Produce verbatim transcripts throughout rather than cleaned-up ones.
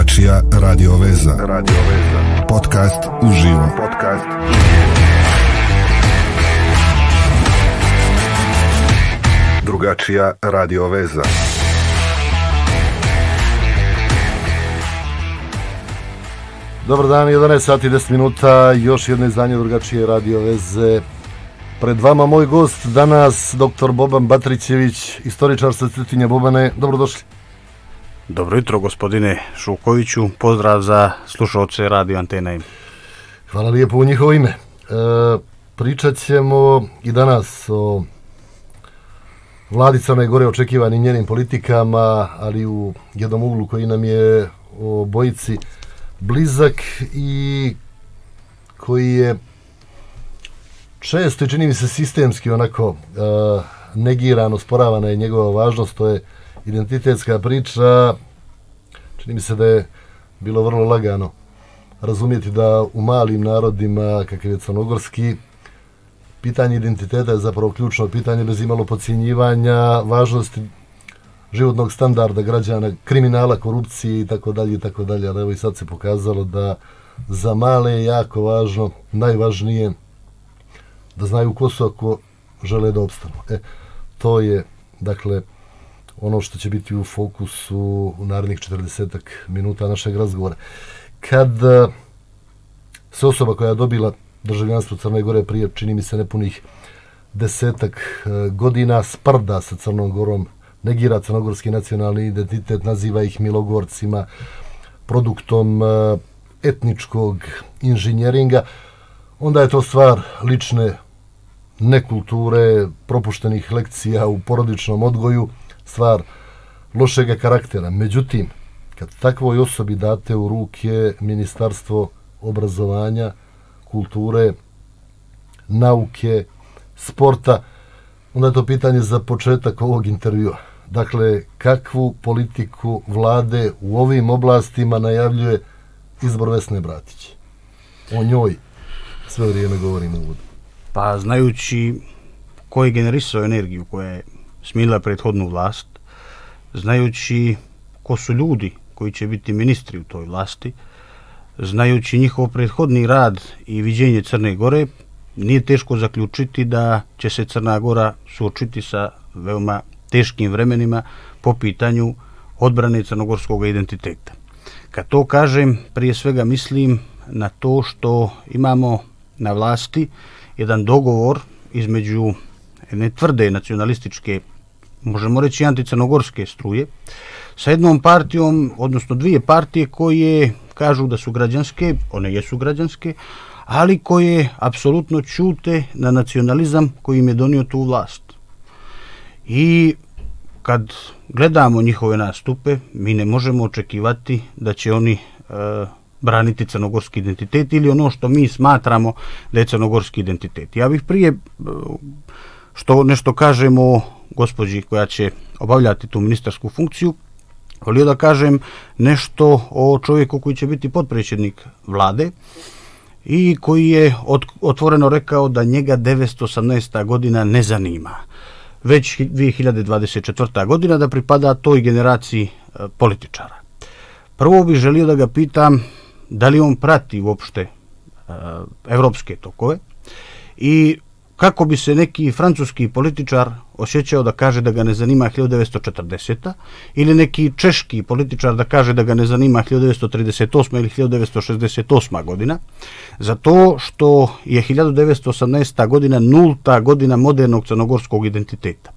Drugačija radio veza. Radio veza. Podcast uživo. Podcast Drugačija radio veza. Dobar dan, jedanaest sati i deset minuta, još jedno izdanje Drugačije radio veze. Pred vama moj gost danas, doktor Boban Batrićević, istoričar sa Cetinja. Bobane, dobrodošli. Dobro jutro, gospodine Šukoviću. Pozdrav za slušalce Radio Antena. Hvala lijepo u njihovo ime. E, pričat ćemo i danas o vladi Crne Gore, očekivanim njenim politikama, ali u jednom uglu koji nam je o bojici blizak i koji je često i čini mi se sistemski onako uh, negirano, osporavana je njegova važnost. To je identitetska priča. Čini mi se da je bilo vrlo lagano razumjeti da u malim narodima, kakav je crnogorski, pitanje identiteta je zapravo ključno pitanje, bez imalo podcjenjivanja važnosti životnog standarda građana, kriminala, korupcije i tako dalje i tako dalje. Ali evo i sad se pokazalo da za male je jako važno, najvažnije, da znaju ko su ako žele da opstanu. E, to je, dakle, ono što će biti u fokusu u narednih četrdesetak minuta našeg razgovora. Kad se osoba koja je dobila državljanstvo Crne Gore prije, čini mi se, nepunih desetak godina, sprda sa Crnom Gorom, negira crnogorski nacionalni identitet, naziva ih milogorcima, produktom etničkog inženjeringa, onda je to stvar lične nekulture, propuštenih lekcija u porodičnom odgoju, stvar lošega karaktera. Međutim, kad takvoj osobi date u ruke Ministarstvo obrazovanja, kulture, nauke, sporta, onda je to pitanje za početak ovog intervjua. Dakle, kakvu politiku vlade u ovim oblastima najavljuje izbor Vesne Bratić? O njoj sve vrijeme govorim u uvodu. Pa znajući ko je generisao energiju koja je smila prethodnu vlast, znajući ko su ljudi koji će biti ministri u toj vlasti, znajući njihov prethodni rad i viđenje Crne Gore, nije teško zaključiti da će se Crna Gora suočiti sa veoma teškim vremenima po pitanju odbrane crnogorskog identiteta. Kad to kažem, prije svega mislim na to što imamo na vlasti jedan dogovor između jedne tvrde nacionalističke, možemo reći anticrnogorske struje, sa jednom partijom, odnosno dvije partije koje kažu da su građanske, one jesu građanske, ali koje apsolutno ćute na nacionalizam koji im je donio tu vlast. I kad gledamo njihove nastupe, mi ne možemo očekivati da će oni e, braniti crnogorski identitet ili ono što mi smatramo da je crnogorski identitet. Ja bih prije što nešto kažem o gospođi koja će obavljati tu ministarsku funkciju, volio da kažem nešto o čovjeku koji će biti potpredsjednik vlade i koji je otvoreno rekao da njega devetsto osamnaesta godina ne zanima, već dvije hiljade dvadeset četvrta godina, da pripada toj generaciji političara. Prvo bih želio da ga pitam da li on prati uopšte evropske tokove i kako bi se neki francuski političar osjećao da kaže da ga ne zanima hiljadu devetsto četrdeseta ili neki češki političar da kaže da ga ne zanima hiljadu devetsto trideset osma ili hiljadu devetsto šezdeset osma godina, zato što je hiljadu devetsto osamnaesta godina nulta godina modernog crnogorskog identiteta.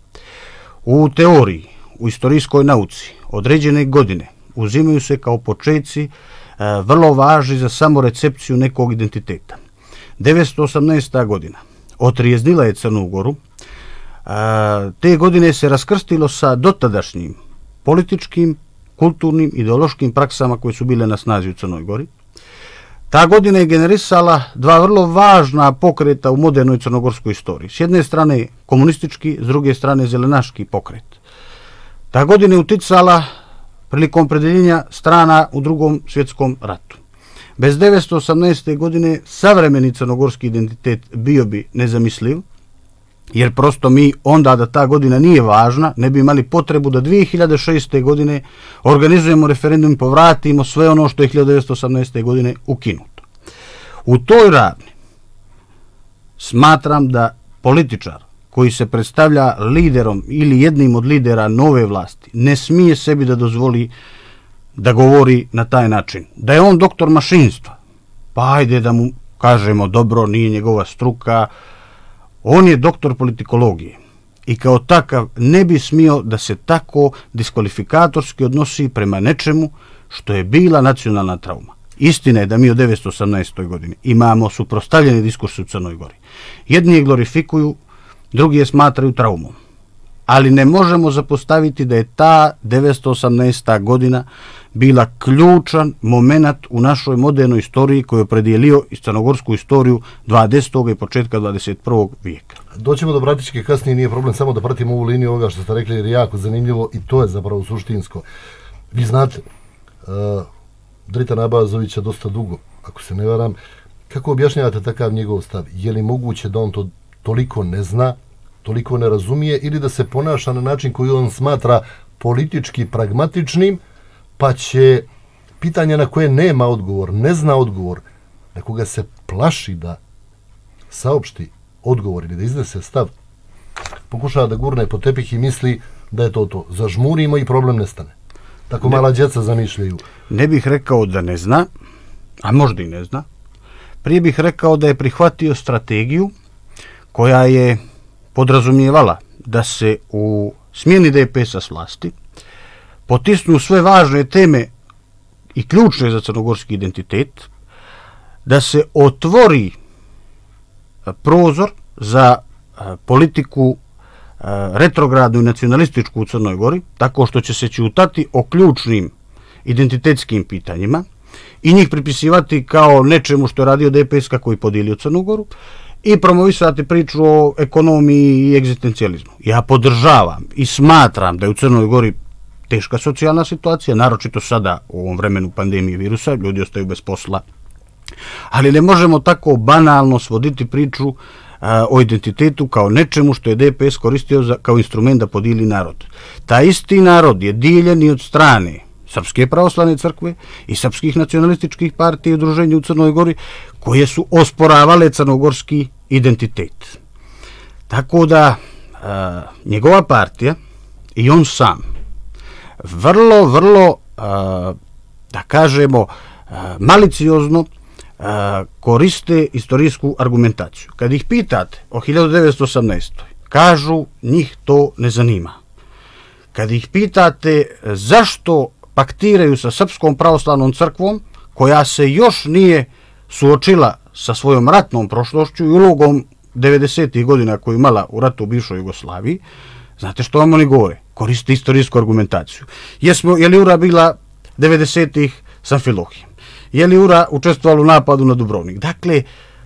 U teoriji, u istorijskoj nauci, određene godine uzimaju se kao počeci vrlo važni za samorecepciju nekog identiteta. devetsto osamnaesta godina otrijeznila je Crnu Goru. Te godine se raskrstilo sa dotadašnjim političkim, kulturnim, ideološkim praksama koje su bile na snazi u Crnoj Gori. Ta godina je generisala dva vrlo važna pokreta u modernoj crnogorskoj istoriji. S jedne strane komunistički, s druge strane zelenaški pokret. Ta godina je uticala prilikom opredeljenja strana u Drugom svjetskom ratu. Bez devetsto osamnaeste godine savremeni crnogorski identitet bio bi nezamisliv, jer prosto mi onda da ta godina nije važna, ne bi imali potrebu da dvije hiljade šeste. godine organizujemo referendum i povratimo sve ono što je hiljadu devetsto osamnaeste. godine ukinuto. U toj ravni smatram da političar koji se predstavlja liderom ili jednim od lidera nove vlasti ne smije sebi da dozvoli da govori na taj način. Da je on doktor mašinstva, pa ajde da mu kažemo dobro, nije njegova struka. On je doktor politikologije i kao takav ne bi smio da se tako diskvalifikatorski odnosi prema nečemu što je bila nacionalna trauma. Istina je da mi od devetsto osamnaeste. godine imamo suprotstavljeni diskurs u Crnoj Gori. Jedni je glorifikuju, drugi je smatraju traumom. Ali ne možemo zapostaviti da je ta devetsto osamnaesta. godina bila ključan moment u našoj modernoj istoriji koji je opredijelio i crnogorsku istoriju dvadesetog i početka dvadeset prvog vijeka. Doćemo do Bratičke kasnije, nije problem samo da pratimo ovu liniju ovoga što ste rekli, jer je jako zanimljivo i to je zapravo suštinsko. Vi znate, uh, Dritan Abazovića dosta dugo, ako se ne varam. Kako objašnjavate takav njegov stav? Je li moguće da on to toliko ne zna, toliko ne razumije, ili da se ponaša na način koji on smatra politički pragmatičnim, pa će pitanja na koje nema odgovor, ne zna odgovor, na koga se plaši da saopšti odgovor ili da iznese stav, pokušava da gurne po tepih i misli da je to to. Zažmurimo i problem nestane. Tako ne, mala djeca zamišljaju. Ne bih rekao da ne zna, a možda i ne zna. Prije bih rekao da je prihvatio strategiju koja je podrazumijevala da se u smjeni D P S-a s vlasti potisnu sve važne teme i ključne za crnogorski identitet, da se otvori prozor za politiku retrogradnu i nacionalističku u Crnoj Gori, tako što će se ćutati o ključnim identitetskim pitanjima i njih pripisivati kao nečemu što je radio D P S kako je podijelio Crnu Goru i promovisati priču o ekonomiji i egzistencijalizmu. Ja podržavam i smatram da je u Crnoj Gori teška socijalna situacija, naročito sada u ovom vremenu pandemije virusa, ljudi ostaju bez posla. Ali ne možemo tako banalno svoditi priču a, o identitetu kao nečemu što je D P S koristio za, kao instrument da podijeli narod. Ta isti narod je dijeljen i od strane Srpske pravoslavne crkve i srpskih nacionalističkih partija i udruženja u Crnoj Gori koje su osporavale crnogorski identitet. Tako da a, njegova partija i on sam vrlo, vrlo, a, da kažemo, a, maliciozno a, koriste istorijsku argumentaciju. Kad ih pitate o hiljadu devetsto osamnaestoj. kažu njih to ne zanima. Kad ih pitate zašto paktiraju sa Srpskom pravoslavnom crkvom, koja se još nije suočila sa svojom ratnom prošlošću i ulogom devedesetih godina koju imala u ratu u bivšoj Jugoslaviji, znate što vam oni govore? Koriste istorijsku argumentaciju. Jesmo, je li Ura bila devedesetih sa Amfilohijem? Je li Ura učestvovala u napadu na Dubrovnik? Dakle,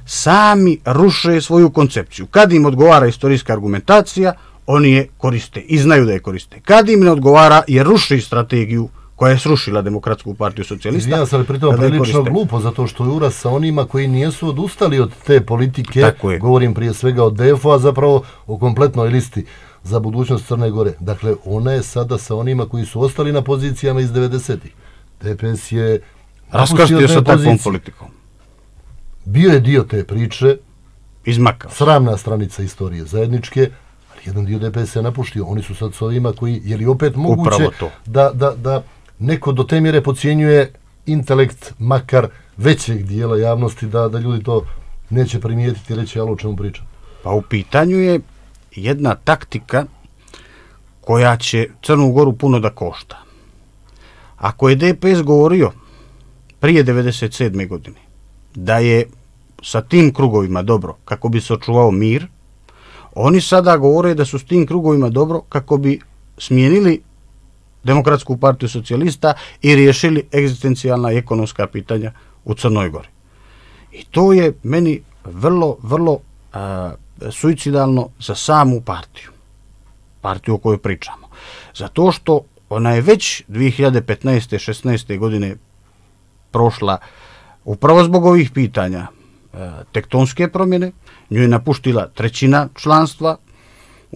sami ruše svoju koncepciju. Kad im odgovara istorijska argumentacija, oni je koriste i znaju da je koriste. Kad im ne odgovara, jer ruši strategiju koja je srušila Demokratsku partiju socijalista. Izvijem se, ali pritom prilično glupo, zato što je Ura sa onima koji nijesu odustali od te politike, govorim prije svega o D F O, a zapravo o kompletnoj listi za budućnost Crne Gore. Dakle, ona je sada sa onima koji su ostali na pozicijama iz devedesetih. D P S je raskrstio sa takvom politikom. Bio je dio te priče, izmakao. Sramna stranica istorije zajedničke, ali jedan dio D P S je napuštio. Oni su sad s ovima koji, je li opet moguće da, da, da neko do te mjere pocijenjuje intelekt makar većeg dijela javnosti, da, da ljudi to neće primijetiti i reći, ali o čemu pričam? Pa u pitanju je jedna taktika koja će Crnu Goru puno da košta. Ako je D P S govorio prije devedeset sedme godine da je sa tim krugovima dobro kako bi se očuvao mir, oni sada govore da su s tim krugovima dobro kako bi smijenili Demokratsku partiju socijalista i riješili egzistencijalna i ekonomska pitanja u Crnoj Gori. I to je meni vrlo, vrlo a, suicidalno za samu partiju. Partiju o kojoj pričamo. Zato što ona je već dvije hiljade petnaeste šesnaeste godine prošla upravo zbog ovih pitanja e, tektonske promjene, nju je napuštila trećina članstva,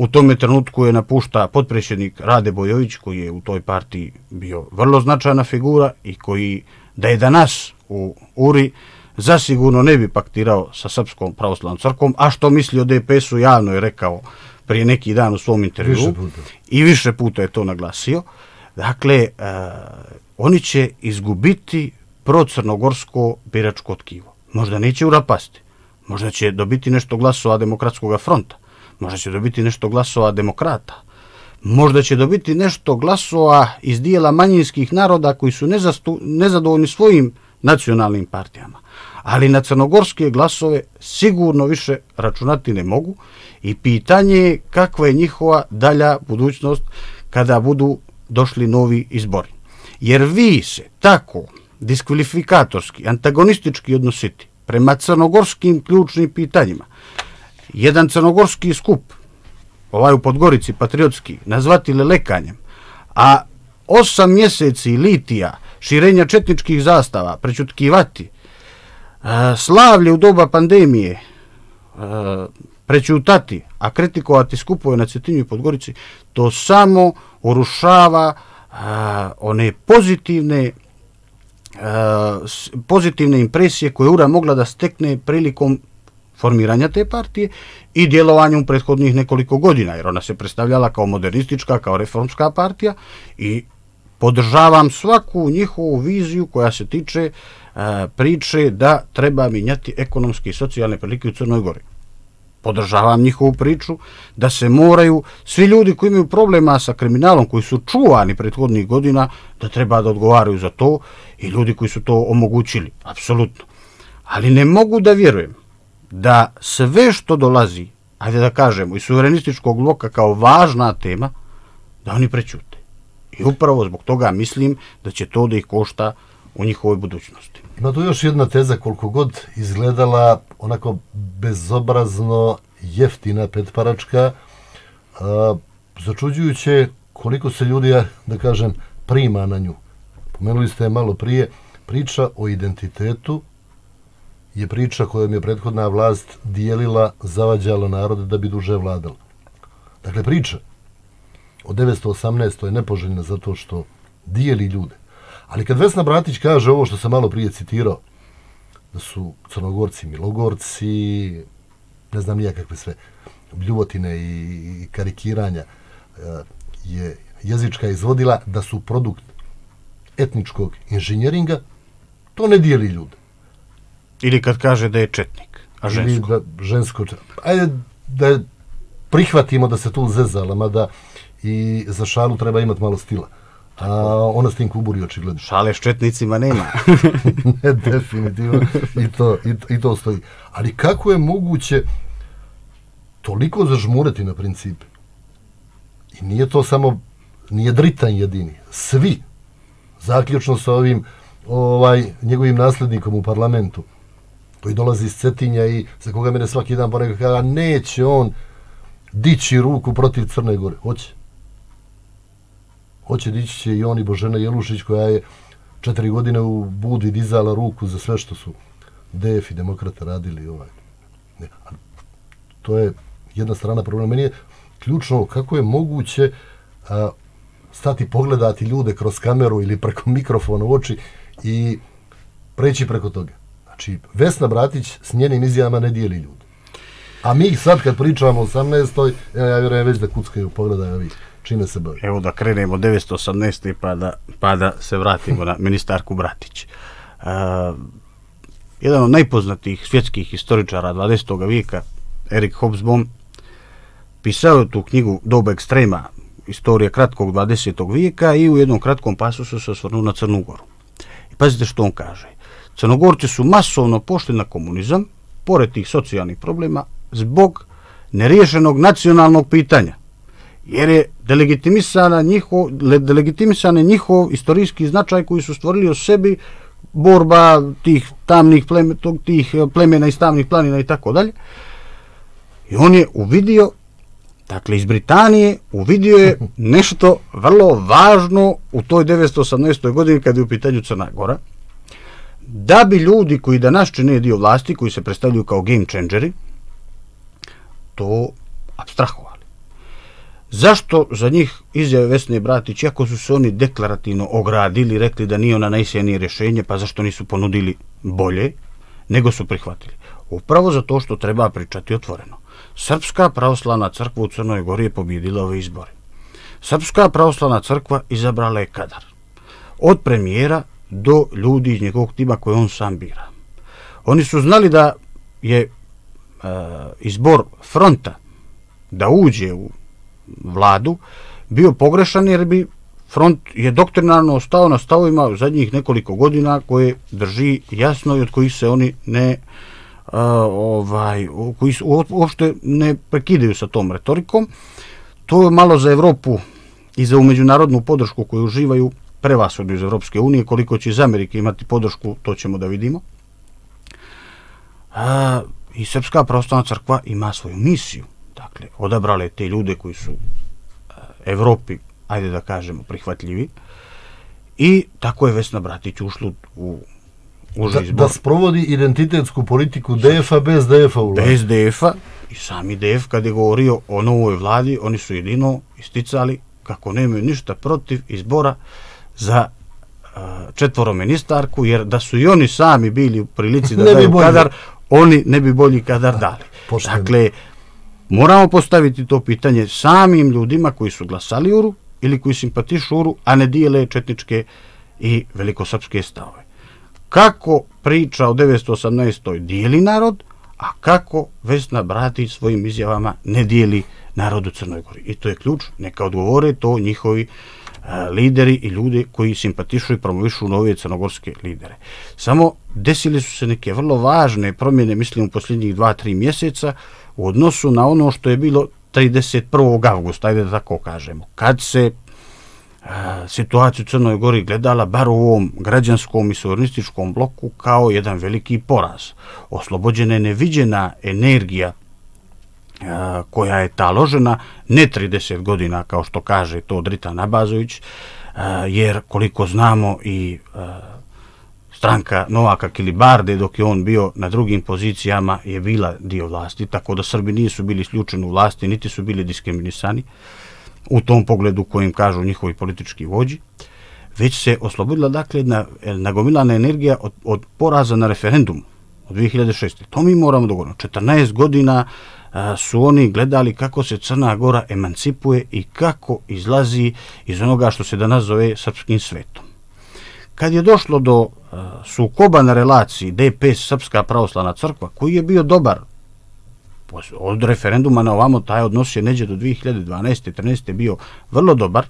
U tome trenutku je napušta potpredsjednik Rade Bojović, koji je u toj partiji bio vrlo značajna figura i koji, da je danas u Uri, zasigurno ne bi paktirao sa Srpskom pravoslavnom crkvom, a što misli o D P S-u javno je rekao prije neki dan u svom intervju i više puta je to naglasio. Dakle, uh, oni će izgubiti procrnogorsko biračko tkivo. Možda neće urapasti, možda će dobiti nešto glasova Demokratskog fronta, možda će dobiti nešto glasova demokrata, možda će dobiti nešto glasova iz dijela manjinskih naroda koji su nezastu, nezadovoljni svojim nacionalnim partijama. Ali na crnogorske glasove sigurno više računati ne mogu i pitanje je kakva je njihova dalja budućnost kada budu došli novi izbori. Jer vi se tako diskvalifikatorski, antagonistički odnositi prema crnogorskim ključnim pitanjima. Jedan crnogorski skup, ovaj u Podgorici, patriotski, nazvati lelekanjem, a osam mjeseci litija, širenja četničkih zastava, prećutkivati, slavlje u doba pandemije, prećutati, a kritikovati skupove na Cetinju i Podgorici, to samo urušava one pozitivne pozitivne impresije koje Ura mogla da stekne prilikom formiranja te partije i djelovanjem prethodnih nekoliko godina, jer ona se predstavljala kao modernistička, kao reformska partija i podržavam svaku njihovu viziju koja se tiče a, priče da treba mijenjati ekonomske i socijalne prilike u Crnoj Gori. Podržavam njihovu priču da se moraju svi ljudi koji imaju problema sa kriminalom, koji su čuvani prethodnih godina, da treba da odgovaraju za to i ljudi koji su to omogućili, apsolutno. Ali ne mogu da vjerujem da sve što dolazi, ajde da kažemo, iz suverenističkog bloka kao važna tema, da oni prećute. I upravo zbog toga mislim da će to da ih košta u njihovoj budućnosti. Ima tu još jedna teza, koliko god izgledala onako bezobrazno jeftina petparačka, a, začuđujuće koliko se ljudi, da kažem, prima na nju. Pomenuli ste malo prije, priča o identitetu je priča kojom je prethodna vlast dijelila, zavađala narode da bi duže vladala. Dakle, priča o devetsto osamnaestoj je nepoželjna zato što dijeli ljude. Ali kad Vesna Bratić kaže ovo što sam malo prije citirao, da su Crnogorci Milogorci, ne znam nijakakve sve bljuvotine i karikiranja, je jezička izvodila da su produkt etničkog inženjeringa, to ne dijeli ljude. Ili kad kaže da je četnik, a žensko. Ili da žensko. Ajde da prihvatimo da se tu zezala, mada i za šalu treba imati malo stila. A ona s tim kuburi očigledno. Šale s četnicima nema. Ne, definitivno. I to, i, I to stoji. Ali kako je moguće toliko zažmureti na principe? I nije to samo, nije Dritan jedini. Svi. Zaključno sa ovim ovaj, njegovim nasljednikom u parlamentu, koji dolazi iz Cetinja i za koga mene svaki dan ponekad kada neće on dići ruku protiv Crne Gore. Hoće. Hoće, dići će i on i Božena Jelušić, koja je četiri godine u Budi dizala ruku za sve što su D F i demokrata radili. Ovaj. Ne, to je jedna strana problema. Meni je ključno kako je moguće a, stati pogledati ljude kroz kameru ili preko mikrofona u oči i preći preko toga. Znači, Vesna Bratić s njenim izjavama ne dijeli ljudi. A mi sad kad pričamo o osamnaestoj, ja, ja vjerujem već da kuckaju, pogledaju ovi čime se bavi. Evo da krenemo od devetsto osamnaeste. pa da, pa da se vratimo na ministarku Bratić. Uh, jedan od najpoznatijih svjetskih historičara dvadesetog vijeka, Erik Hobsbawm, pisao je tu knjigu Doba ekstrema, istorija kratkog dvadesetog vijeka i u jednom kratkom pasusu se osvrnuo na Crnu Goru. I pazite što on kaže. Crnogorci su masovno pošli na komunizam, pored tih socijalnih problema, zbog neriješenog nacionalnog pitanja. Jer je delegitimisana njihov, delegitimisan je njihov istorijski značaj koji su stvorili o sebi, borba tih tamnih pleme, tih plemena iz tamnih planina i tako dalje. I on je uvidio, dakle iz Britanije, uvidio je nešto vrlo važno u toj devetsto osamnaestoj. godini kad je u pitanju Crna Gora, da bi ljudi koji danas čine dio vlasti, koji se predstavljaju kao game changeri, to apstrahovali. Zašto za njih izjave Vesne Bratić, iako su se oni deklarativno ogradili, rekli da nije ona najsjajnije rješenje, pa zašto nisu ponudili bolje, nego su prihvatili? Upravo zato što treba pričati otvoreno. Srpska pravoslavna crkva u Crnoj Gori je pobjedila ove izbore. Srpska pravoslavna crkva izabrala je kadar. Od premijera do ljudi iz njegovog tima koje on sam bira. Oni su znali da je e, izbor fronta da uđe u vladu bio pogrešan, jer bi front je doktrinarno ostao na stavovima u zadnjih nekoliko godina koje drži jasno i od kojih se oni ne uh, ovaj, koji su, uopšte ne prekidaju sa tom retorikom. To je malo za Evropu i za međunarodnu podršku koju uživaju prevashodno iz Evropske unije. Koliko će iz Amerike imati podršku, to ćemo da vidimo. A, i Srpska pravoslavna crkva ima svoju misiju. Dakle, odabrale te ljude koji su Evropi, ajde da kažemo, prihvatljivi, i tako je Vesna Bratić ušla u uži izbor. Da, da sprovodi identitetsku politiku D F-a bez D F-a u vladi. Bez D F-a, i sami D F kad je govorio o novoj vladi, oni su jedino isticali kako nemaju ništa protiv izbora za uh, četvoro ministarku, jer da su i oni sami bili u prilici da daju kadar, oni ne bi bolji kadar dali. Pošteno. Dakle, moramo postaviti to pitanje samim ljudima koji su glasali Uru ili koji simpatišu Uru, a ne dijele četničke i velikosrpske stavove. Kako priča o devetsto osamnaestoj dijeli narod, a kako Vesna Bratić svojim izjavama ne dijeli narod u Crnoj Gori. I to je ključ, neka odgovore to njihovi a, lideri i ljudi koji simpatišu i promovišu nove crnogorske lidere. Samo desili su se neke vrlo važne promjene, mislim, u posljednjih dva tri mjeseca u odnosu na ono što je bilo trideset prvog avgusta, ajde da tako kažemo, kad se a, situacija u Crnoj Gori gledala bar u ovom građanskom i suverenističkom bloku kao jedan veliki poraz. Oslobođena je neviđena energija a, koja je taložena ne trideset godina, kao što kaže to Dritan Abazović, a, jer koliko znamo i a, stranka Novaka Kilibarde, dok je on bio na drugim pozicijama, je bila dio vlasti, tako da Srbi nisu bili isključeni u vlasti, niti su bili diskriminisani u tom pogledu kojim kažu njihovi politički vođi, već se oslobodila, dakle, jedna nagomilana energija od, od poraza na referendumu od dvije hiljade šeste. To mi moramo dogovoriti. četrnaest godina a, su oni gledali kako se Crna Gora emancipuje i kako izlazi iz onoga što se danas zove srpskim svetom. Kad je došlo do uh, sukoba na relaciji D P S Srpska pravoslavna crkva, koji je bio dobar od referenduma na ovamo, taj odnos je neđe do dvije hiljade dvanaeste trinaeste bio vrlo dobar,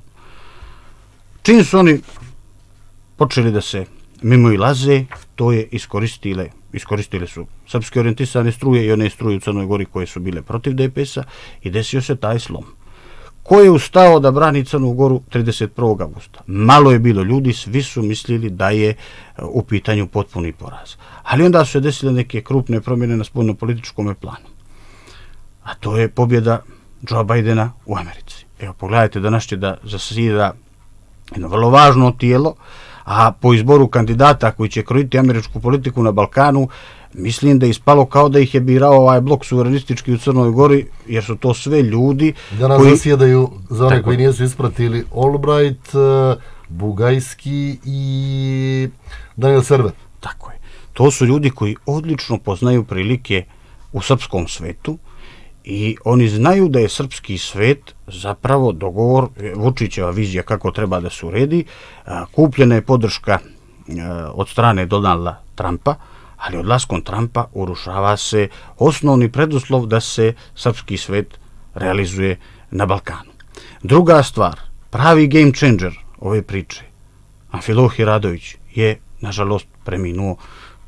čim su oni počeli da se mimo ilaze, to je iskoristile, iskoristile su srpske orijentisane struje i one struje u Crnoj Gori koje su bile protiv D P S-a, i desio se taj slom. Ko je ustao da brani Crnu Goru trideset prvog avgusta? Malo je bilo ljudi, svi su mislili da je u pitanju potpuni poraz. Ali onda su se desile neke krupne promjene na spoljno-političkom planu. A to je pobjeda Joe Bidena u Americi. Evo, pogledajte, danas će da zasjeda jedno vrlo važno tijelo, a po izboru kandidata koji će krojiti američku politiku na Balkanu, mislim da je ispalo kao da ih je birao ovaj blok suverenistički u Crnoj Gori, jer su to sve ljudi danas koji zasjedaju, za one koji nisu ispratili, Albright, Bugajski i Daniel Server. Tako je. To su ljudi koji odlično poznaju prilike u srpskom svetu i oni znaju da je srpski svet zapravo dogovor, Vučićeva vizija kako treba da se uredi, kupljena je podrška od strane Donalda Trumpa, ali odlaskom Trumpa urušava se osnovni preduslov da se srpski svet realizuje na Balkanu. Druga stvar, pravi game changer ove priče, Amfilohije Radović, je, nažalost, preminuo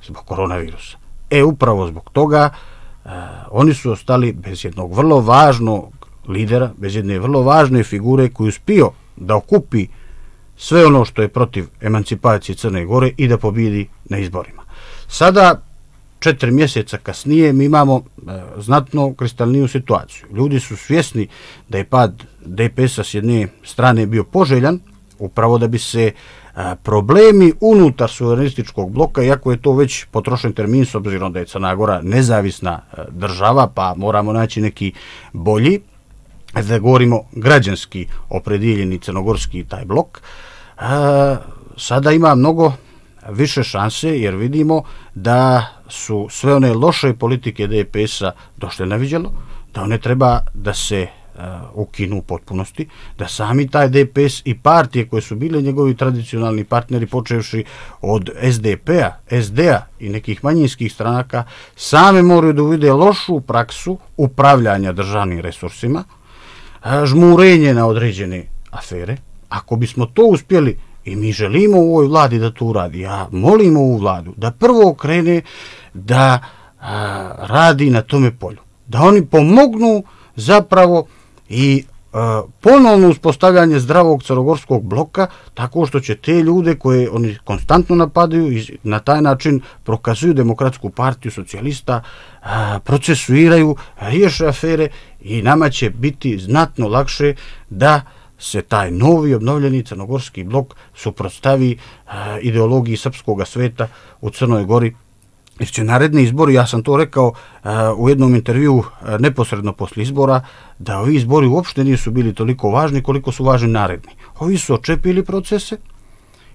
zbog koronavirusa. E, upravo zbog toga uh, oni su ostali bez jednog vrlo važnog lidera, bez jedne vrlo važne figure koji uspio da okupi sve ono što je protiv emancipacije Crne Gore i da pobijedi na izborima. Sada, četiri mjeseca kasnije, mi imamo e, znatno kristalniju situaciju. Ljudi su svjesni da je pad D P S-a s jedne strane bio poželjan, upravo da bi se a, problemi unutar suverenističkog bloka, iako je to već potrošen termin s obzirom da je Crna Gora nezavisna a, država, pa moramo naći neki bolji, da govorimo građanski opredjeljeni crnogorski taj blok, a, sada ima mnogo više šanse, jer vidimo da su sve one loše politike D P S-a došle na viđalo, da one treba da se uh, ukinu u potpunosti, da sami taj D P S i partije koje su bile njegovi tradicionalni partneri, počevši od S D P-a, S D-a i nekih manjinskih stranaka, same moraju da uvide lošu praksu upravljanja državnim resursima, uh, žmurenje na određene afere. Ako bismo to uspjeli, i mi želimo u ovoj vladi da to uradi, ja molim ovu vladu da prvo krene da a, radi na tome polju, da oni pomognu zapravo i a, ponovno uspostavljanje zdravog crnogorskog bloka, tako što će te ljude koje oni konstantno napadaju i na taj način prokazuju Demokratsku partiju socijalista, a, procesuiraju, riješe afere i nama će biti znatno lakše da se taj novi obnovljeni crnogorski blok suprotstavi uh, ideologiji srpskog sveta u Crnoj Gori. Jer će naredni izbori, ja sam to rekao uh, u jednom intervju uh, neposredno posle izbora, da ovi izbori uopšte nisu bili toliko važni koliko su važni naredni. Ovi su očepili procese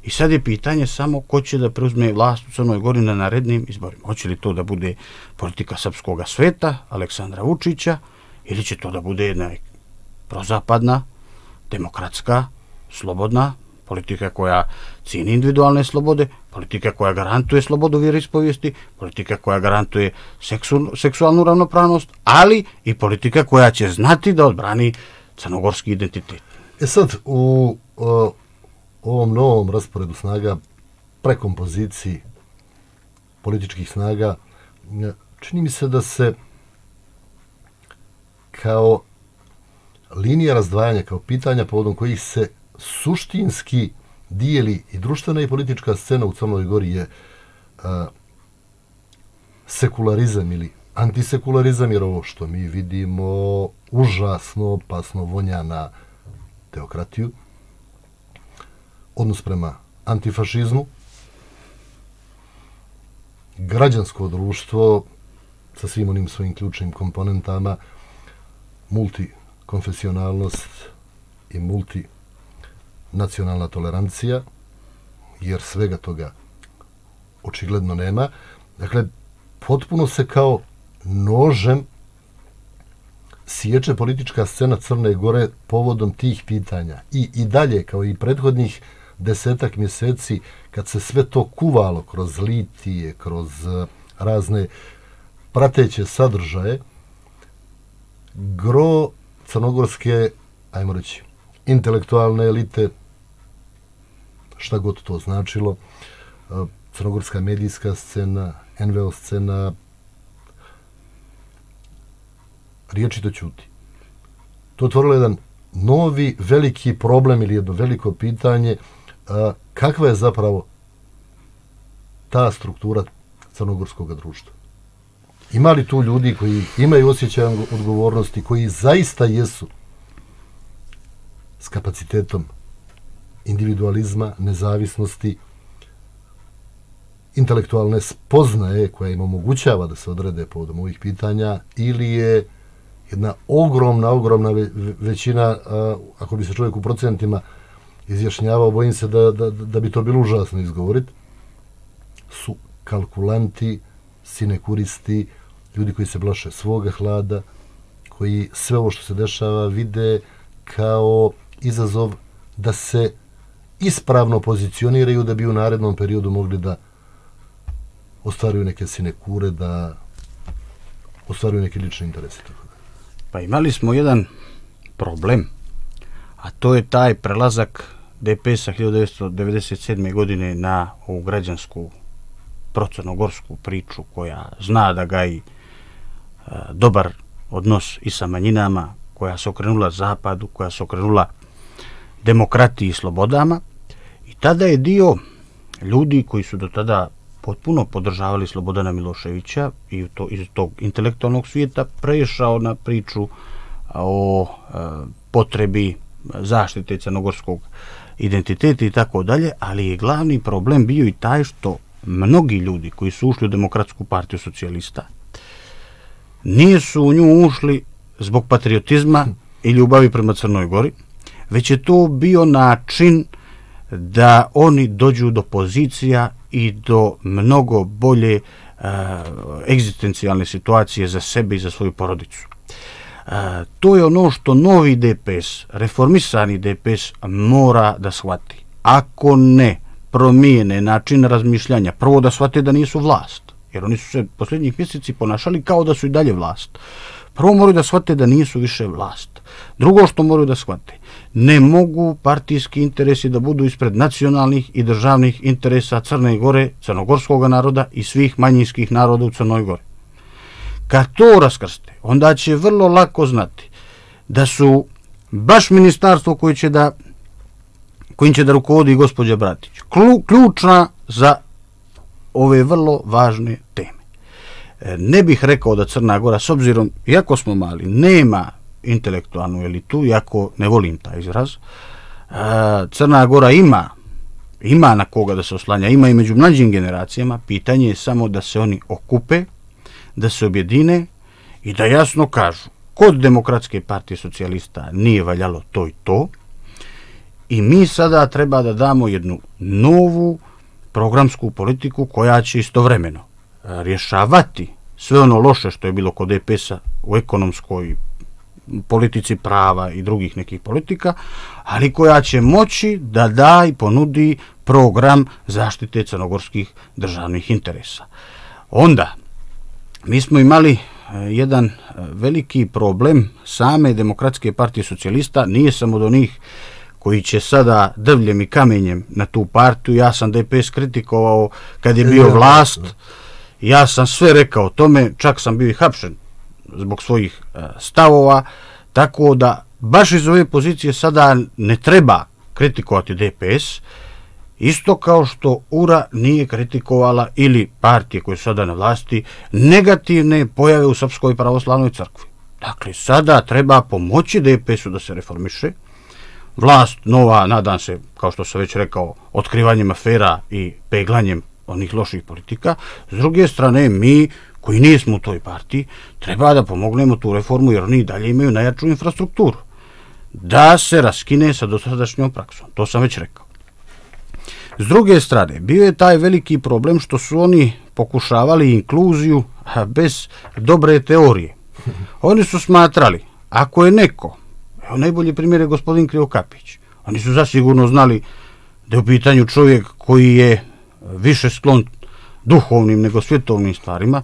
i sad je pitanje samo ko će da preuzme vlast u Crnoj Gori na narednim izborima. Hoće li to da bude politika srpskog sveta, Aleksandra Vučića, ili će to da bude jedna prozapadna, demokratska, slobodna politika koja cijeni individualne slobode, politika koja garantuje slobodu vjeroispovijesti, politika koja garantuje seksu, seksualnu ravnopravnost, ali i politika koja će znati da odbrani crnogorski identitet. E sad, u o, ovom novom rasporedu snaga, prekompoziciji političkih snaga, čini mi se da se kao linija razdvajanja, kao pitanja povodom kojih se suštinski dijeli i društvena i politička scena u Crnoj Gori je a, sekularizam ili antisekularizam, jer ovo što mi vidimo užasno opasno vonja na teokratiju, odnos prema antifašizmu, građansko društvo sa svim onim svojim ključnim komponentama, multikonfesionalnost i multinacionalna tolerancija, jer svega toga očigledno nema. Dakle, potpuno se kao nožem sječe politička scena Crne Gore povodom tih pitanja. I, i dalje, kao i prethodnih desetak mjeseci, kad se sve to kuvalo kroz litije, kroz razne prateće sadržaje, gro crnogorske, ajmo reći, intelektualne elite, šta god to značilo, crnogorska medijska scena, en ve o scena, riječito ćuti. To je otvorilo jedan novi, veliki problem ili jedno veliko pitanje, a, kakva je zapravo ta struktura crnogorskog društva. Ima li tu ljudi koji imaju osjećaj odgovornosti, koji zaista jesu s kapacitetom individualizma, nezavisnosti, intelektualne spoznaje koja im omogućava da se odrede povodom ovih pitanja, ili je jedna ogromna, ogromna većina, ako bi se čovjek u procentima izjašnjavao, bojim se da, da, da bi to bilo užasno izgovoriti, su kalkulanti, sinekuristi, ljudi koji se plaše svoga hlada, koji sve ovo što se dešava vide kao izazov da se ispravno pozicioniraju da bi u narednom periodu mogli da ostvaruju neke sinekure, da ostvaruju neke lične interese. Pa imali smo jedan problem, a to je taj prelazak de pe es-a hiljadu devetsto devedeset sedme. godine na ovu građansku procrnogorsku priču koja zna da gaji e, dobar odnos i sa manjinama, koja se okrenula zapadu, koja se okrenula demokratiji i slobodama. I tada je dio ljudi koji su do tada potpuno podržavali Slobodana Miloševića i to, iz tog intelektualnog svijeta prešao na priču o e, potrebi zaštite crnogorskog identiteta i tako dalje, ali je glavni problem bio i taj što mnogi ljudi koji su ušli u Demokratsku partiju socijalista nisu u nju ušli zbog patriotizma i ljubavi prema Crnoj Gori, već je to bio način da oni dođu do pozicija i do mnogo bolje uh, egzistencijalne situacije za sebe i za svoju porodicu. Uh, to je ono što novi D P S, reformisani D P S mora da shvati. Ako ne promijene način razmišljanja, prvo da shvate da nisu vlast, jer oni su se posljednjih mjeseci ponašali kao da su i dalje vlast. Prvo moraju da shvate da nisu više vlast. Drugo što moraju da shvate, ne mogu partijski interesi da budu ispred nacionalnih i državnih interesa Crne Gore, crnogorskog naroda i svih manjinskih naroda u Crnoj Gori. Kad to raskrste, onda će vrlo lako znati da su baš ministarstvo koje će da, kojim će da rukovodi gospođa Bratić ključna za ove vrlo važne teme. Ne bih rekao da Crna Gora, s obzirom, iako smo mali, nema intelektualnu elitu, iako ne volim taj izraz, Crna Gora ima, ima na koga da se oslanja, ima i među mlađim generacijama, pitanje je samo da se oni okupe, da se objedine i da jasno kažu, kod Demokratske partije socijalista nije valjalo to i to, i mi sada treba da damo jednu novu programsku politiku koja će istovremeno rješavati sve ono loše što je bilo kod D P S-a u ekonomskoj politici prava i drugih nekih politika, ali koja će moći da da i ponudi program zaštite crnogorskih državnih interesa. Onda, mi smo imali jedan veliki problem same Demokratske partije socijalista, nije samo od onih koji će sada drvljem i kamenjem na tu partiju. Ja sam D P S kritikovao kad je bio vlast, ja sam sve rekao o tome, čak sam bio i hapšen zbog svojih stavova, tako da baš iz ove pozicije sada ne treba kritikovati D P S, isto kao što U R A nije kritikovala ili partije koje su sada na vlasti negativne pojave u Srpskoj pravoslavnoj crkvi. Dakle, sada treba pomoći D P S-u da se reformiše. Vlast nova, nadam se, kao što sam već rekao, otkrivanjem afera i peglanjem onih loših politika. S druge strane, mi koji nismo u toj partiji, treba da pomognemo tu reformu, jer oni dalje imaju najjaču infrastrukturu. Da se raskine sa dosadašnjom praksom. To sam već rekao. S druge strane, bio je taj veliki problem što su oni pokušavali inkluziju bez dobre teorije. Oni su smatrali, ako je neko, evo najbolji primjer je gospodin Krivokapić, oni su zasigurno znali da je u pitanju čovjek koji je više sklon duhovnim nego svjetovnim stvarima.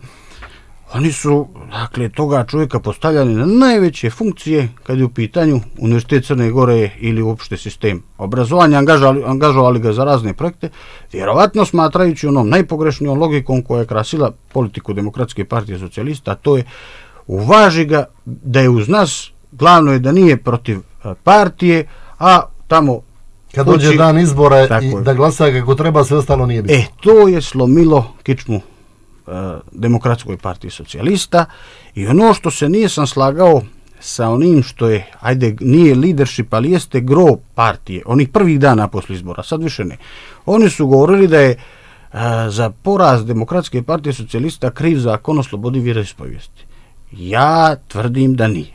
Oni su, dakle, toga čovjeka postavljali na najveće funkcije kad je u pitanju Univerzitet Crne Gore ili uopšte sistem obrazovanja, angažovali, angažovali ga za razne projekte, vjerovatno smatrajući onom najpogrešnijom logikom koja je krasila politiku Demokratske partije socijalista, a to je uvaži ga da je uz nas, glavno je da nije protiv partije, a tamo kad dođe kući, dan izbora i da glasa kako treba, sve ostalo nije bitno. E, to je slomilo kičmu Demokratskoj partiji socijalista i ono što se nisam slagao sa onim što je, ajde, nije leadership, ali jeste gro partije, onih prvih dana posle izbora, sad više ne. Oni su govorili da je a, za poraz Demokratske partije socijalista kriv zakon o slobodi vjeroispovijesti. Ja tvrdim da nije.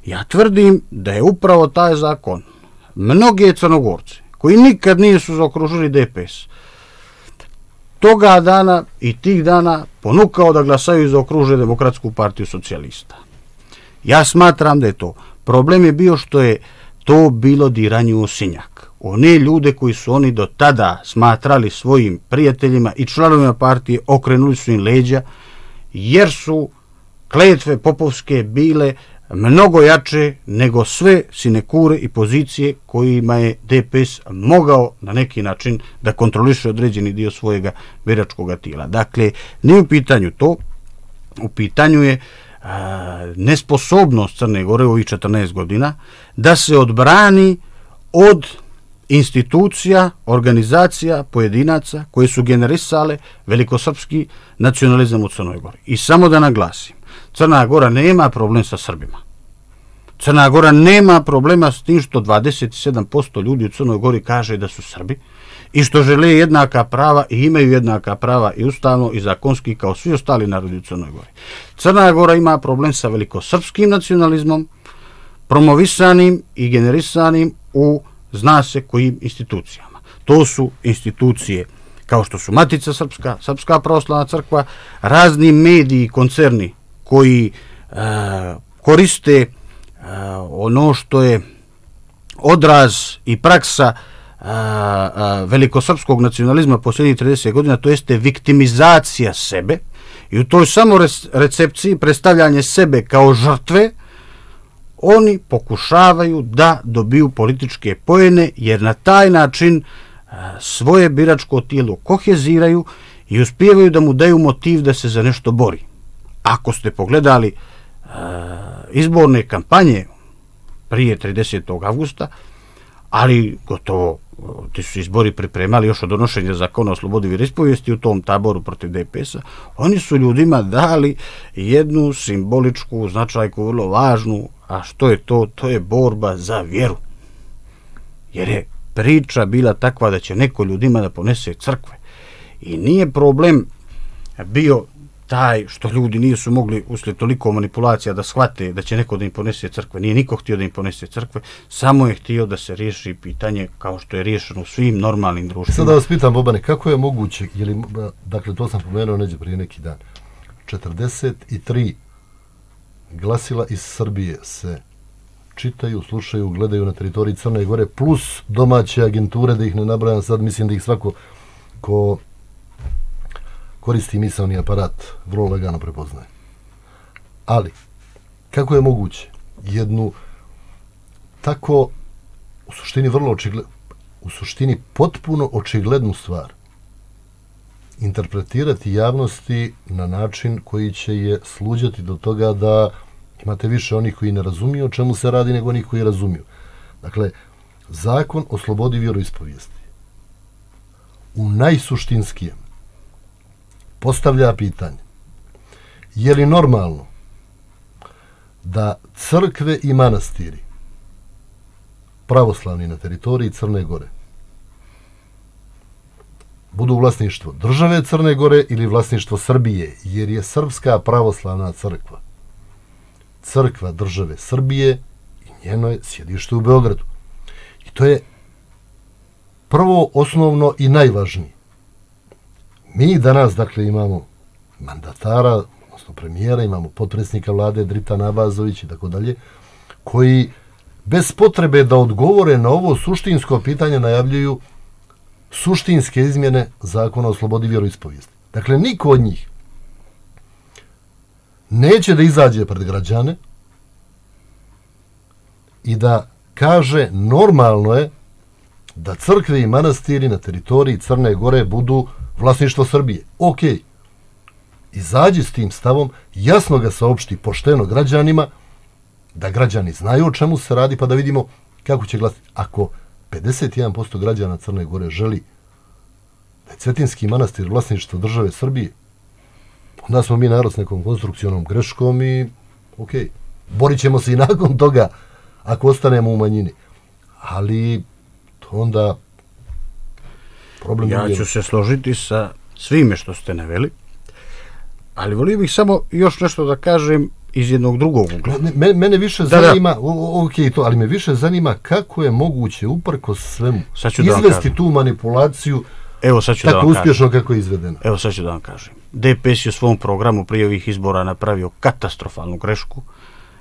Ja tvrdim da je upravo taj zakon mnoge Crnogorce koji nikad nisu zaokružili D P S toga dana i tih dana ponukao da glasaju i zaokruže Demokratsku partiju socijalista. Ja smatram da je to. Problem je bio što je to bilo diranje u osinjak. One ljude koji su oni do tada smatrali svojim prijateljima i članovima partije, okrenuli su im leđa, jer su kletve popovske bile mnogo jače nego sve sinekure i pozicije kojima je D P S mogao na neki način da kontroliše određeni dio svojega biračkog tijela. Dakle, nije u pitanju to, u pitanju je a, nesposobnost Crne Gore u ovih četrnaest godina da se odbrani od institucija, organizacija, pojedinaca koje su generisale velikosrpski nacionalizam u Crnoj Gori. I samo da naglasim, Crna Gora nema problem sa Srbima. Crna Gora nema problema s tim što dvadeset sedam posto ljudi u Crnoj Gori kaže da su Srbi i što žele jednaka prava i imaju jednaka prava i ustavno i zakonski kao svi ostali narodi u Crnoj Gori. Crna Gora ima problem sa velikosrpskim nacionalizmom, promovisanim i generisanim u zna se kojim institucijama. To su institucije kao što su Matica Srpska, Srpska pravoslavna crkva, razni mediji i koncerni koji e, koriste e, ono što je odraz i praksa a, a, velikosrpskog nacionalizma posljednjih trideset godina, to jeste viktimizacija sebe i u toj samo recepciji predstavljanje sebe kao žrtve, oni pokušavaju da dobiju političke poene, jer na taj način a, svoje biračko tijelo koheziraju i uspijevaju da mu daju motiv da se za nešto bori. Ako ste pogledali a, izborne kampanje prije tridesetog avgusta, ali gotovo ti su izbori pripremali još od donošenja zakona o slobodi vjeroispovijesti u tom taboru protiv D P S-a, oni su ljudima dali jednu simboličku značajku, vrlo važnu, a što je to? To je borba za vjeru. Jer je priča bila takva da će neko ljudima da ponese crkve. I nije problem bio taj što ljudi nisu mogli uslijed toliko manipulacija da shvate da će neko da im ponese crkve. Nije niko htio da im ponese crkve, samo je htio da se riješi pitanje kao što je riješeno u svim normalnim društvima. Sada vas pitam, Bobane, kako je moguće, je li, dakle to sam pomenuo neđe prije neki dan, četrdeset tri glasila iz Srbije se čitaju, slušaju, gledaju na teritoriji Crne Gore, plus domaće agenture, da ih ne nabrajam sad, mislim da ih svako ko koristi misaoni aparat, vrlo lagano prepoznaje. Ali, kako je moguće jednu tako, u suštini vrlo očiglednu, u suštini potpuno očiglednu stvar interpretirati javnosti na način koji će je sluđati do toga da imate više onih koji ne razumiju o čemu se radi nego onih koji razumiju. Dakle, zakon o slobodi vjeroispovijesti u najsuštinskijem postavlja pitanje: je li normalno da crkve i manastiri pravoslavni na teritoriji Crne Gore budu vlasništvo države Crne Gore ili vlasništvo Srbije, jer je Srpska pravoslavna crkva crkva države Srbije i njeno je sjedište u Beogradu. I to je prvo, osnovno i najvažnije. Mi danas, dakle, imamo mandatara, odnosno premijera, imamo potpredsjednika vlade Dritana Abazović i tako dalje, koji bez potrebe da odgovore na ovo suštinsko pitanje najavljuju suštinske izmjene zakona o slobodi vjeroispovijesti. Dakle, niko od njih neće da izađe pred građane i da kaže normalno je da crkve i manastiri na teritoriji Crne Gore budu vlasništvo Srbije. Ok, izađi s tim stavom, jasno ga saopšti pošteno građanima, da građani znaju o čemu se radi, pa da vidimo kako će glasiti. Ako pedeset jedan posto građana Crne Gore želi da je Cetinski manastir vlasništvo države Srbije, onda smo mi narod s nekom konstrukcionom greškom i ok, borit ćemo se i nakon toga ako ostanemo u manjini. Ali to onda problem... Ja ću se složiti sa svime što ste naveli, ali volio bih samo još nešto da kažem iz jednog drugog ugla. Me, mene više da, zanima, da. ok to, ali me više zanima kako je moguće uprkos svemu izvesti tu manipulaciju. Evo sad ću tako da vam uspješno kažem. Kako je izvedeno. Evo sad ću da vam kažem. D P S je u svom programu prije ovih izbora napravio katastrofalnu grešku,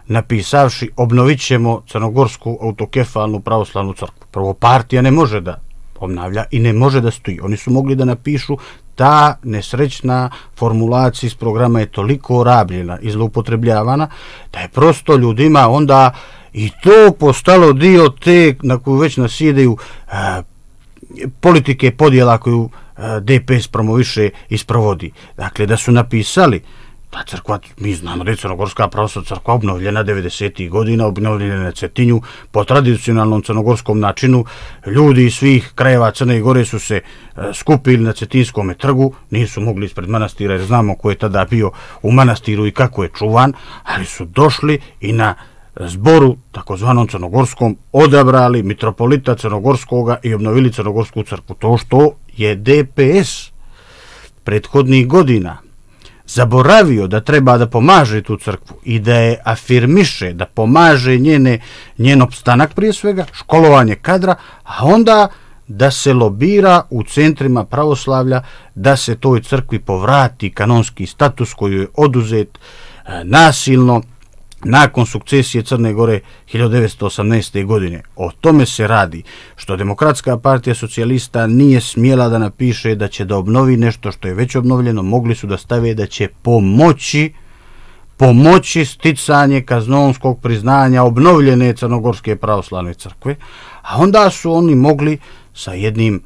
napisavši obnovit ćemo crnogorsku autokefalnu pravoslavnu crkvu. Prvo, partija ne može da obnavlja i ne može da stoji. Oni su mogli da napišu ta nesrećna formulacija iz programa je toliko rabljena i zloupotrebljavana da je prosto ljudima onda i to postalo dio te na koju već nasjedaju a, politike podjela koju a, D P S promoviše i sprovodi. Dakle, da su napisali ta crkva, mi znamo da je Crnogorska pravoslavna crkva obnovljena devedesetih godina, obnovljena na Cetinju, po tradicionalnom crnogorskom načinu, ljudi iz svih krajeva Crne Gore su se uh, skupili na Cetinskome trgu, nisu mogli ispred manastira jer znamo ko je tada bio u manastiru i kako je čuvan, ali su došli i na zboru, takozvanom crnogorskom, odabrali mitropolita Crnogorskoga i obnovili Crnogorsku crkvu. To što je D P S prethodnih godina zaboravio da treba da pomaže tu crkvu i da je afirmiše, da pomaže njene, njen opstanak prije svega, školovanje kadra, a onda da se lobira u centrima pravoslavlja da se toj crkvi povrati kanonski status koji je oduzet e, nasilno nakon sukcesije Crne Gore hiljadu devetsto osamnaeste. godine. O tome se radi, što Demokratska partija socijalista nije smjela da napiše da će da obnovi nešto što je već obnovljeno, mogli su da stave da će pomoći pomoći sticanje kaznoonskog priznanja obnovljene Crnogorske pravoslavne crkve, a onda su oni mogli sa jednim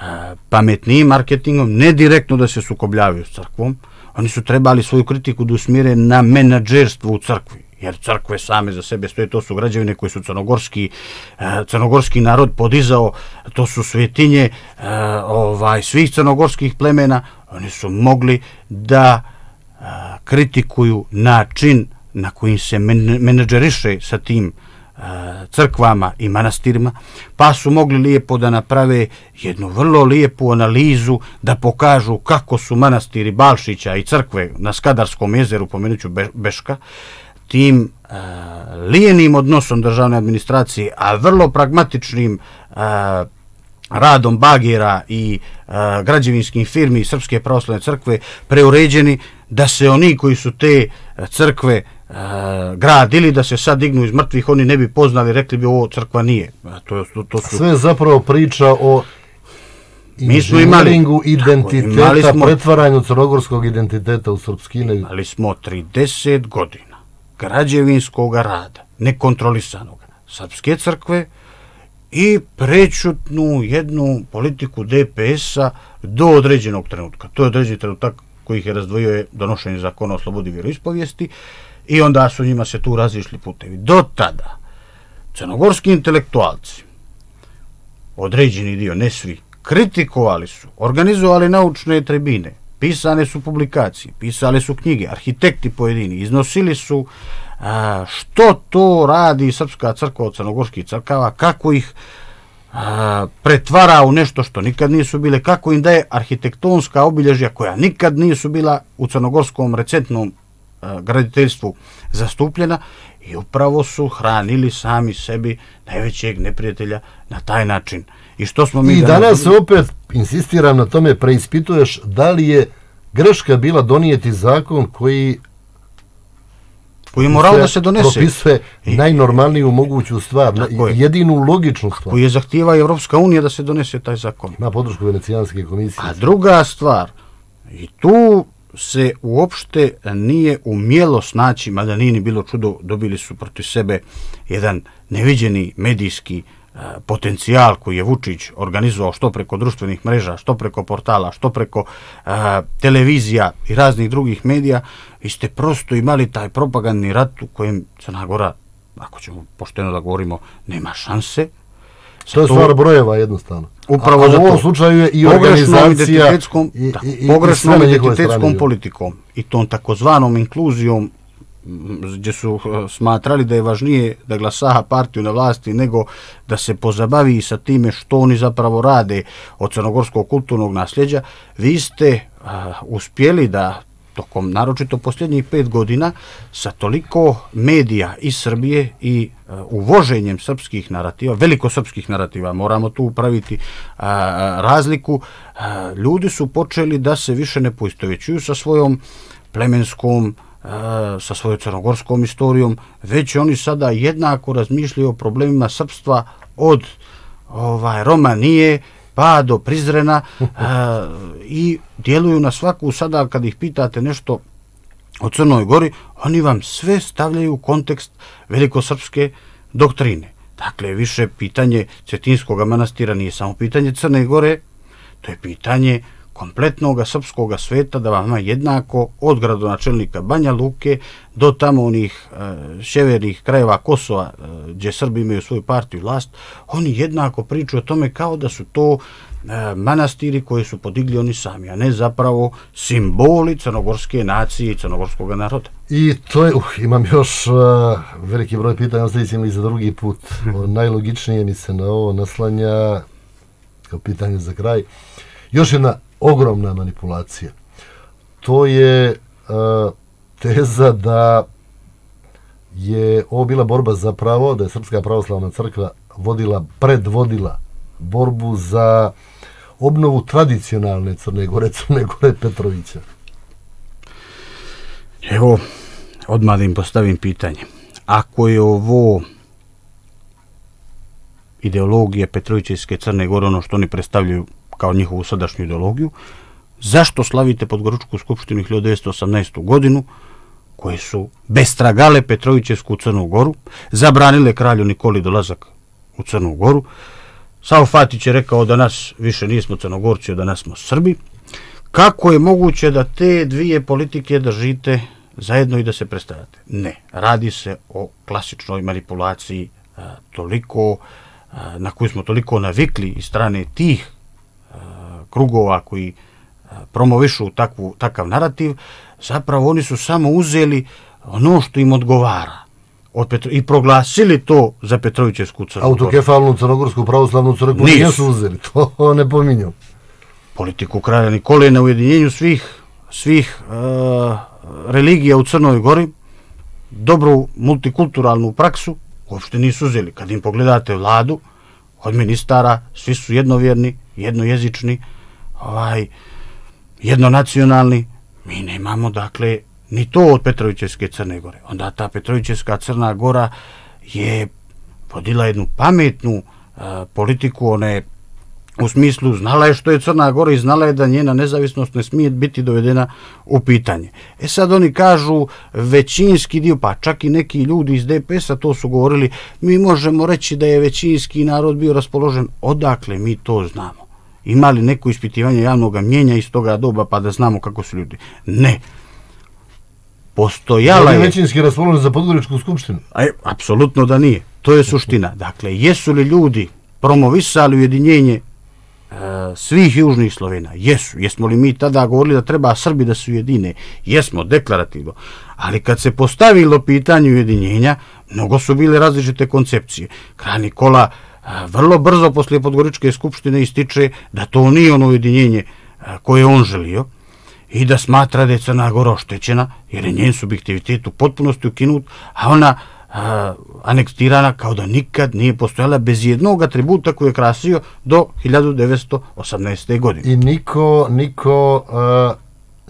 a, pametnijim marketingom, ne direktno da se sukobljavaju s crkvom, oni su trebali svoju kritiku da usmjere na menadžerstvo u crkvi, jer crkve same za sebe stoje, to su građevine koje su crnogorski, a, crnogorski narod podizao, to su svetinje a, ovaj, svih crnogorskih plemena, oni su mogli da a, kritikuju način na kojim se men, menadžeriše sa tim crkvama i manastirima, pa su mogli lijepo da naprave jednu vrlo lijepu analizu, da pokažu kako su manastiri Balšića i crkve na Skadarskom jezeru, pomenuću Beška, tim uh, lijenim odnosom državne administracije, a vrlo pragmatičnim uh, radom bagera i uh, građevinskim firmi Srpske pravoslavne crkve preuređeni, da se oni koji su te crkve uh, gradili, da se sad dignu iz mrtvih, oni ne bi poznali, rekli bi ovo crkva nije. To, to, to su... Sve zapravo priča o inženjeringu identiteta, imali smo, pretvaranju crnogorskog identiteta u srpskine. Imali smo trideset godina građevinskog rada, nekontrolisanog Srpske crkve i prečutnu jednu politiku D P S-a do određenog trenutka. To je određeni trenutak koji ih je razdvojio je donošenje zakona o slobodi vjeroispovijesti i onda su njima se tu razišli putevi. Do tada crnogorski intelektualci, određeni dio, ne svi, kritikovali su, organizovali naučne tribine, pisane su publikacije, pisali su knjige, arhitekti pojedini, iznosili su a, što to radi Srpska crkva od crnogorskih crkava, kako ih a, pretvara u nešto što nikad nisu bile, kako im daje arhitektonska obilježja koja nikad nisu bila u crnogorskom recentnom a, graditeljstvu zastupljena, i upravo su hranili sami sebi najvećeg neprijatelja na taj način. I što smo mi I danas, danas opet, insistiram na tome, preispituješ da li je greška bila donijeti zakon koji koji je morao da se donese, propisuje I, najnormalniju moguću stvar, jedinu logičnu stvar. Koji je zahtijeva Evropska unija da se donese taj zakon. Na podršku Venecijanske komisije. A druga stvar, i tu se uopšte nije umjelo snaći, mada nije ni bilo čudo, dobili su protiv sebe jedan neviđeni medijski uh, potencijal koji je Vučić organizovao što preko društvenih mreža, što preko portala, što preko uh, televizija i raznih drugih medija. Vi ste prosto imali taj propagandni rat u kojem Crna Gora, ako ćemo pošteno da govorimo, nema šanse. To je stvar brojeva jednostavno. Upravo u ovom slučaju je i organizacija i, da, i, i, pogrešnom identitetskom politikom i tom takozvanom inkluzijom, gdje su smatrali da je važnije da glasa partiju na vlasti nego da se pozabavi sa time što oni zapravo rade od crnogorskog kulturnog nasljeđa. Vi ste a, uspjeli da tokom naročito posljednjih pet godina sa toliko medija iz Srbije i uh, uvoženjem srpskih narativa, velikosrpskih narativa, moramo tu upraviti uh, razliku, uh, ljudi su počeli da se više ne poistovjećuju sa svojom plemenskom, uh, sa svojom crnogorskom istorijom, već oni sada jednako razmišljaju o problemima srpstva od ovaj, Romanije pa do Prizrena a, i djeluju na svaku. Sada kad ih pitate nešto o Crnoj Gori, oni vam sve stavljaju u kontekst velikosrpske doktrine. Dakle, više pitanje Cetinskog manastira nije samo pitanje Crne Gore, to je pitanje kompletnog srpskog sveta, da vam jednako od gradonačelnika Banja Luke do tamo onih e, sjevernih krajeva Kosova, e, gdje Srbi imaju svoju partiju i vlast, oni jednako pričaju o tome kao da su to e, manastiri koji su podigli oni sami, a ne zapravo simboli crnogorske nacije i crnogorskog naroda. I to je, uh, imam još uh, veliki broj pitanja, ostavit ćemo i za drugi put. Najlogičnije mi se na ovo naslanja kao pitanje za kraj. Još jedna ogromna manipulacija. To je uh, teza da je ovo bila borba za pravo, da je Srpska pravoslavna crkva vodila, predvodila borbu za obnovu tradicionalne Crne Gore, Crne Gore Petrovića. Evo, odmah da im postavim pitanje. Ako je ovo ideologija Petrovićevske Crne Gore, ono što oni predstavljaju kao njihovu sadašnju ideologiju, zašto slavite Podgoričku skupštinu hiljadu devetsto osamnaestu. godinu, koje su bestragale Petrovićevsku Crnu Goru, zabranile kralju Nikoli dolazak u Crnu Goru? Savo Fatić je rekao da nas više nismo Crnogorci, da nas smo Srbi. Kako je moguće da te dvije politike držite zajedno i da se predstavljate? Ne, radi se o klasičnoj manipulaciji a, toliko, a, na koju smo toliko navikli iz strane tih a, krugova koji a, promovišu takvu, takav narativ. Zapravo oni su samo uzeli ono što im odgovara od Petro... i proglasili to za Petrovićevsku Crnu Goru. Autokefalnu Crnogorsku pravoslavnu crkvu nisu uzeli, to ne pominjam. Politiku kralja Nikole na ujedinjenju svih, svih uh, religija u Crnoj Gori, dobru multikulturalnu praksu, uopšte nisu uzeli. Kad im pogledate vladu, od ministara, svi su jednovjerni, jednojezični, ovaj, jednonacionalni. Mi nemamo, dakle, ni to od Petrovićevske Crne Gore. Onda ta Petrovićevska Crna Gora je vodila jednu pametnu uh, politiku, one u smislu znala je što je Crna Gora i znala je da njena nezavisnost ne smije biti dovedena u pitanje. E sad oni kažu većinski dio, pa čak i neki ljudi iz D P S-a to su govorili, mi možemo reći da je većinski narod bio raspoložen. Odakle mi to znamo? Imali neko ispitivanje javnog mnjenja iz toga doba pa da znamo kako su ljudi? Ne. Postojala je... većinski raspoložen za Podgoričku skupštinu? Aj, apsolutno da nije. To je suština. Dakle, jesu li ljudi promovisali ujedinjenje e, svih južnih Slovena? Jesu. Jesmo li mi tada govorili da treba Srbi da se ujedine? Jesmo, deklarativno. Ali kad se postavilo pitanje ujedinjenja, mnogo su bile različite koncepcije. Kralj Nikola a, vrlo brzo poslije Podgoričke skupštine ističe da to nije ono ujedinjenje a, koje on želio i da smatra da je Crna Gora oštećena jer je njen subjektivitet u potpunosti ukinut, a ona a, anektirana kao da nikad nije postojala bez jednog atributa koji je krasio do hiljadu devetsto osamnaeste. godine. I niko, niko a,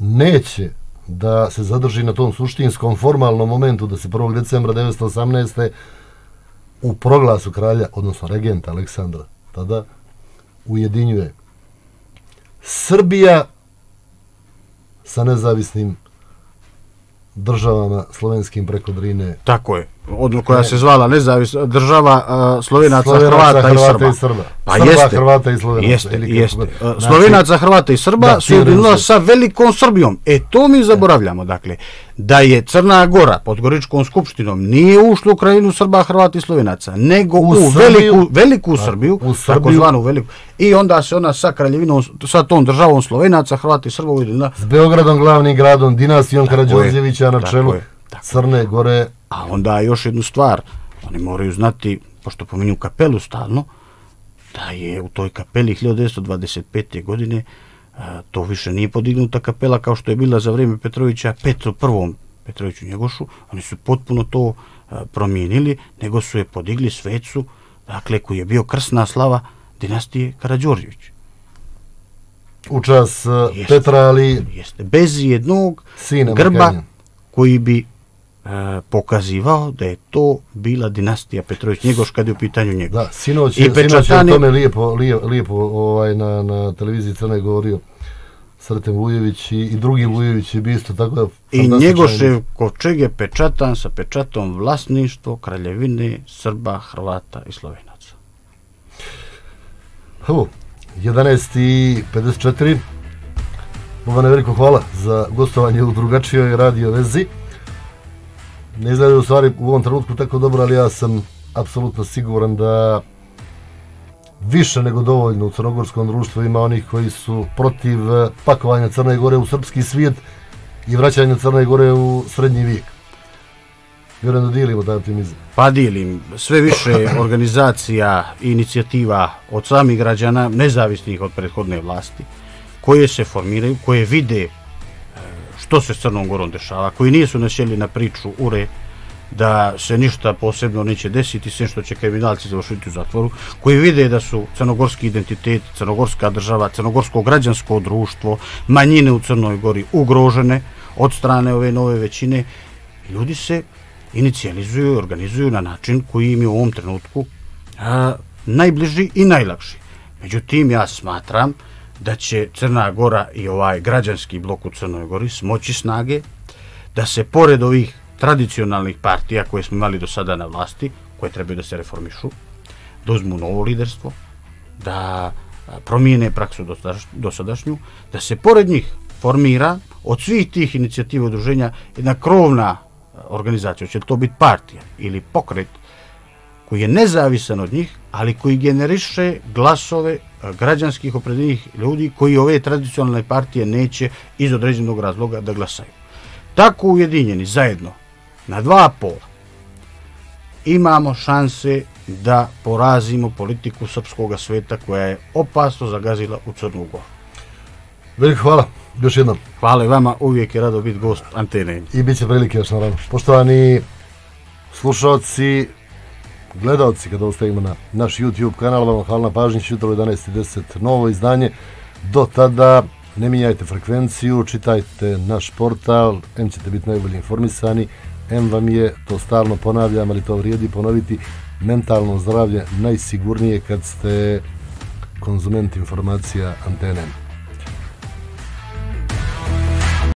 neće da se zadrži na tom suštinskom formalnom momentu da se prvog decembra devetsto osamnaeste. u proglasu kralja, odnosno regenta Aleksandra, tada ujedinjuje Srbija sa nezavisnim državama slovenskim preko Drine. Tako je. Odno koja se zvala nezavisna država uh, Slovenaca, Slovenaca, Hrvata, Hrvata i i Srba. Srba. Pa Srba, jeste. Hrvata i Slovenaca. Jeste, ili jeste. Znači, Slovenaca, Hrvata i Srba da, su ujedinila sa velikom Srbijom. E, to mi zaboravljamo. Dakle, da je Crna Gora pod Goričkom skupštinom nije ušla u krajinu Srba, Hrvata i Slovenaca, nego u, u veliku, veliku da, Srbiju, u Srbiju, takozvanu veliku. I onda se ona sa kraljevinom, sa tom državom Slovenaca, Hrvata i Srba ujedinila. S Beogradom, glavnim gradom, dinastijom Karađorđevića na čelu Crne Gore. A onda još jednu stvar, oni moraju znati, pošto pominju kapelu stalno, da je u toj kapeli hiljadu devetsto dvadeset pete. godine a, to više nije podignuta kapela kao što je bila za vrijeme Petrovića, Petru prvom Petroviću Njegošu. Oni su potpuno to a, promijenili, nego su je podigli svecu, dakle, koji je bio krsna slava dinastije Karađorđević. U čas Petra, ali... Jeste, bez jednog grba Makanja, koji bi E, pokazivao da je to bila dinastija Petrović Njegoš kad je u pitanju njega. Da, sinoć je pečatani... o tome lijepo, lijepo, lijepo ovaj, na, na televiziji Crne govorio Sreten Vujević i, i drugi Vujević je bio isto tako da... I Njegošev kovčeg je pečatan sa pečatom vlasništvo Kraljevine Srba, Hrvata i Slovenaca. Hu, jedanaest i pedeset četiri. Bogane, veliko hvala za gostovanje u drugačijoj radio vezi. Ne izgleda u stvari u ovom trenutku tako dobro, ali ja sam apsolutno siguran da više nego dovoljno u crnogorskom društvu ima onih koji su protiv pakovanja Crne Gore u srpski svijet i vraćanja Crne Gore u srednji vijek. Vjerujem da dijelimo taj optimizam. Pa dijelim. Sve više organizacija i inicijativa od samih građana, nezavisnih od prethodne vlasti, koje se formiraju, koje vide što se s Crnom Gorom dešava, koji nisu nasjeli na priču ure da se ništa posebno neće desiti, sve što će kriminalci završiti u zatvoru, koji vide da su crnogorski identitet, crnogorska država, crnogorsko građansko društvo, manjine u Crnoj Gori ugrožene od strane ove nove većine. Ljudi se inicijalizuju i organizuju na način koji im je u ovom trenutku a, najbliži i najlakši. Međutim, ja smatram da će Crna Gora i ovaj građanski blok u Crnoj Gori smoći snage da se pored ovih tradicionalnih partija koje smo imali do sada na vlasti, koje trebaju da se reformišu, da uzmu novo liderstvo, da promijene praksu dosadašnju, da se pored njih formira od svih tih inicijativa udruženja jedna krovna organizacija, će to biti partija ili pokret koji je nezavisan od njih, ali koji generiše glasove građanskih opredeljenih ljudi koji ove tradicionalne partije neće iz određenog razloga da glasaju. Tako ujedinjeni zajedno na dva pola imamo šanse da porazimo politiku srpskog sveta koja je opasno zagazila u Crnu Goru. Veliko hvala, još jednom. Hvala i vama, uvijek je rado biti gost Antene. I bit će prilike još naravno. Poštovani slušalci, gledalci, kada ostavimo na naš YouTube kanal, vam hvala na pažnji, jutro u jedanaest i deset novo izdanje. Do tada ne mijenjajte frekvenciju, čitajte naš portal, em ćete biti najbolje informisani, em vam je, to stalno ponavljam, ali to vrijedi ponoviti, mentalno zdravlje najsigurnije kad ste konzument informacija Antene.